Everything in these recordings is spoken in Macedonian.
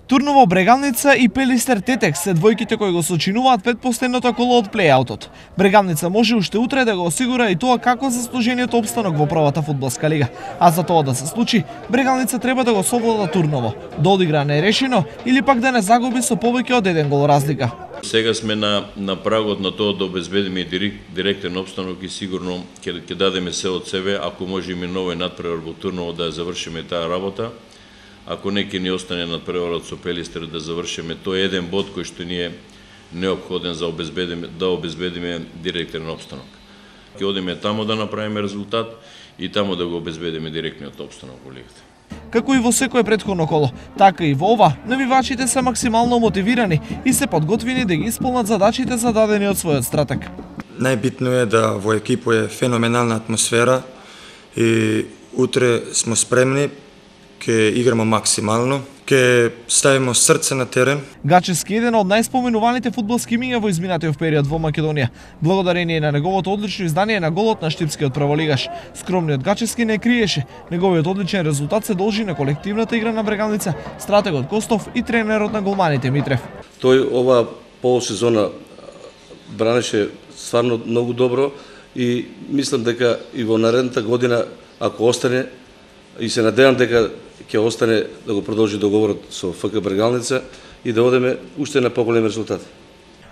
Турново Брегалница и Пелистер Тетекс се двојките кои го сочинуваат предпоследното коло од плејаутот. Брегалница може уште утре да го осигура и тоа како заслужениот опстанок во првата фудбалска лига. А за тоа да се случи, Брегалница треба да го совлада Турново, да одигра нерешено или пак да не загуби со повеќе од 1 гол разлика. Сега сме на прагот на тоа да обезбедиме директен опстанок и сигурно ќе дадеме се од себе, ако може и новој надпревар во Турново да завршиме таа работа. Ако не ќе ни остане надпреварот со Пелистер да завршиме тој еден бод кој што ни е неопходен за да обезбедиме директен опстанок. Ќе одиме тамо да направиме резултат и тамо да го обезбедиме директниот опстанок во лигата. Како и во секое претходно коло, така и во ова, навивачите се максимално мотивирани и се подготвени да ги исполнат задачите зададени од својот стратег. Најбитно е да во екипо е феноменална атмосфера и утре сме спремни, ќе играмо максимално, ќе ставиме срце на терен. Гачевски е еден од најспоменуваните фудбалски имиња во изминатиот период во Македонија. Благодарение на неговото одлично издание на голот на штипскиот прволигаш, скромниот Гачевски не криеше. Неговиот одличен резултат се должи на колективната игра на Брегалница, стратегот Костов и тренерот на голманите Митрев. Тој ова полусезона бранеше стварно многу добро и мислам дека и во наредната година, ако остане, и се надевам дека ќе остане да го продолжи договорот со ФК Брегалница и да одеме уште на поголем резултат.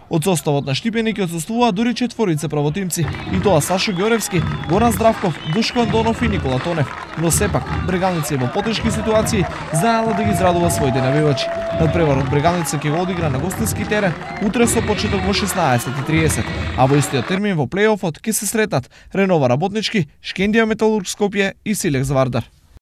Од составот на Штипени ќе отсуствуваат дури 4 правотимци, и тоа Сашо Ѓоревски, Горан Здравков, Душко Андонов и Никола Тонев. Но сепак, Брегалница е во потешки ситуации, знаела да ги израдува своите навивачи. Надпреварот Брегалница ќе го одигра на гостински терен утре со почеток во 16:30, а во истиот термин во плејофот ќе се сретнат Ренова Работнички, Шкендија Металург Скопје и Силекс Вардар.